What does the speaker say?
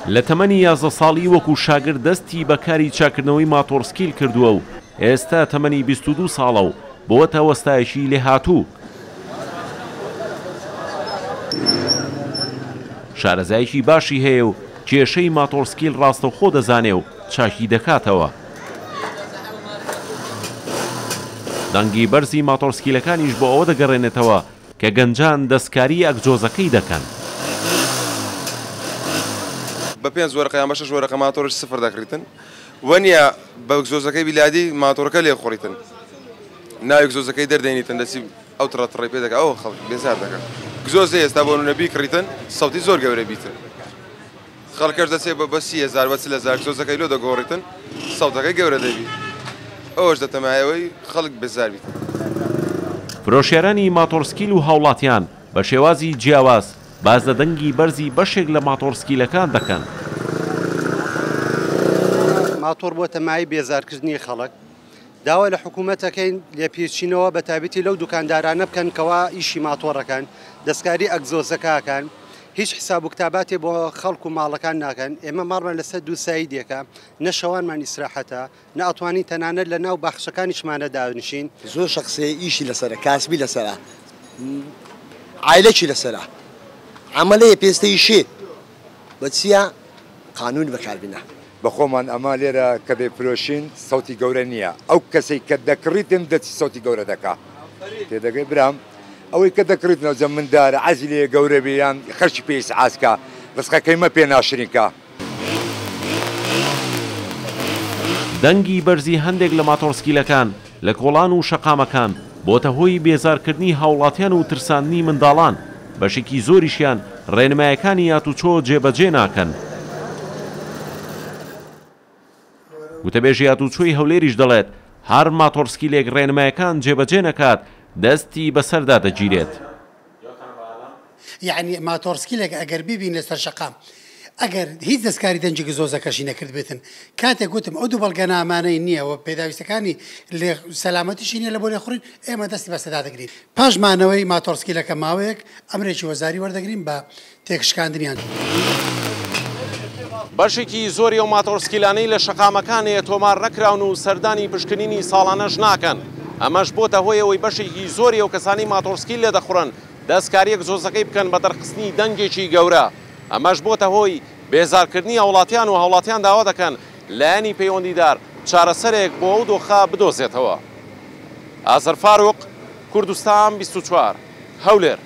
لە تەمەنی 11 ساڵی وەکو شاگرد دەستی بە کاری چاککردنەوەی ماتۆڕسکیل کردووە و ئێستا تەمەنی 22 ساڵە و بۆتە وەستایەکی لێهاتوو. شارەزایەکی باشی هەیە و کێشەی ماتۆڕسکیل ڕاستەوخۆ دەزانێ و چاکی دەکاتەوە. دەنگی بەرزی ماتۆڕسکیلەکانیش بۆ ئەوە دەگەڕێنێتەوە کە گەنجان دەستکاری ئەگزۆزەکەی دەکەن. بە پێنج وەرەقە یان بە شەش وەرەقە ماتۆڕیش سفر دەکڕیتن وەنیە بە ئەگزۆزەکەی بیلادی ماتۆڕەکە لێ خوڕیتن ناوی ئەگزۆزەکەی دەردێنیتن دەچی ئەو تڕە تڕەی پێ دەکا ئەوە خەڵک بێزار دەکا گزۆزە ئێستا بۆ نمونە بیکڕیتن سەوتی زۆر گەورە بیتن خەڵکەش دەچێ بە 30,000 بە 40,000 گزۆزەکەی لۆ دەگۆڕیتن سەوتەکەی گەورە دەبی ئەوەش دەتەمایەوەی خەڵک بێزار بیت. فرۆشیارانی ماتۆڕسکیل و هاوڵاتیان بە شێوازی جیاواز باس لە دەنگی بەرزی بەشێک لە ماتۆڕسکیلەکان دەکەن. ماتۆڕ بۆتە مایەی بێزارکردنی خەڵک، داوا لە حکوومەت ئەکەین لێپێچینەوە بە تایبەتی لەو دوکاندارانە بکەن کەوا ئیشی ماتۆڕەکەن، دەستکاری ئەگزۆزەکە ئەکەن، هیچ حساب و کتاباتێ بۆ خەڵک و ماڵەکان ناکەن. ئێمە ماڵمان لەسەر دوو سایدێکە، نە شەوانمان ئیسراحەتە، نە ئەتوانین تەنانەت لە ناو باخچەکانیشمانە دانیشین. زۆر شەخسێ ئیشی لەسەرە، کاسبی لەسەرە، عایلەکی لەسەرە، عەمەلەیە پێستە ئیشێ بە چییە قانون بەکاربینە. بەخۆمان ئەمە لێرە کە دەیفرۆشین سەوتی گەورە نییە، ئەو کەسەی کە دەکڕیتن دەچی سەوتی گەورە دەکا، تێدەگەی برام؟ ئەوەی کە دەکڕیتن ئەوجە مندارە عەزی لێ گەورە بێ یان خەرکی پێ ئیسعاج کا، ڕزقەکەی مە پێ ناشرین کا. دەنگی بەرزی هەندێک لە ماتۆڕسکیلەکان لە کۆڵان و شەقامەکان بۆتە هۆی بێزارکردنی هاوڵاتیان و ترساندنی منداڵان، بەشێکی زۆریشیان ڕێنمایەکانی هاتوچۆ جێبەجێ ناکەن. وتەبێژی هاتوچۆی هەولێریش دەڵێت، هەر ماتۆڕسکیلێک ڕێنمایەکان جێبەجێ نەکات دەستی بەسەردا دەگیرێت. یەعنی ماتۆڕسکیلێک ئەگەر بیبینە سەر شەقام ئەگەر هیچ دەستکاری دەنگی گزۆزەکەشی نەکردبێتن کاتێک گوتم ئەو دوو بەڵگەنامانەی نییە و پێداویستەکانی لێ سەلامەتیشی نییە لە بۆ لێخوڕین ئێمە دەستی بەسەدا دەگرین پاش مانەوەی ماتۆڕسکیلەکە ماوەیەک ئەمرێکی وەزاری وەردەگرین بە تێکشکاندنیان. بەشێکی زۆری ئەو ماتۆڕسکیلانەی لە شەقامەکان هەیە تۆمار نەکراون و سەردانی پشکنینی ساڵانەش ناکەن، ئەمەش بۆتە هۆی ئەوەی بەشێکی زۆری ئەو کەسانەی ماتۆڕسکیل لێدەخوڕن دەستکارییەک زۆزەکەی بکەن بە دەرخستنی دەنگێکی گەورە، ئەمەش بۆتە هۆی بێزارکردنی هاوڵاتیان و هاوڵاتیان داوا دەکەن لایەنی پەیوەندیدار چارەسەرێک بۆ ئەو دۆخە بدۆزێتەوە. ئازەر فاروق، کوردستان 24، هەولێر.